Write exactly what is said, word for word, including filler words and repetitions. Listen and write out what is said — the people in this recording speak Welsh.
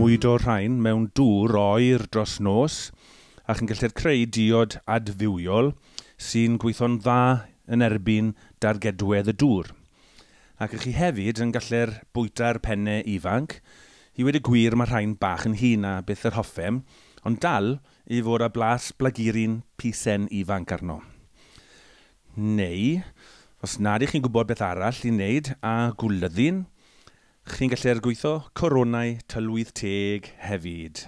mwydo'r rhain mewn dŵr oer dros nos, a chi'n gallu'r creu diod adfywiol sy'n gweithio'n dda yn erbyn dargedwedd y dŵr. Ac ych chi hefyd yn gallu'r bwyta'r pennau ifanc. I wedi gwir mae rhain bach yn hŷn a beth yr hoffem, ond dal i fod â blas blagurin pisen ifanc arno. Neu, os nad ych chi'n gwybod beth arall i wneud a gwlyddyn, chi'n gallu'r gweithio coronau tylwyth teg hefyd.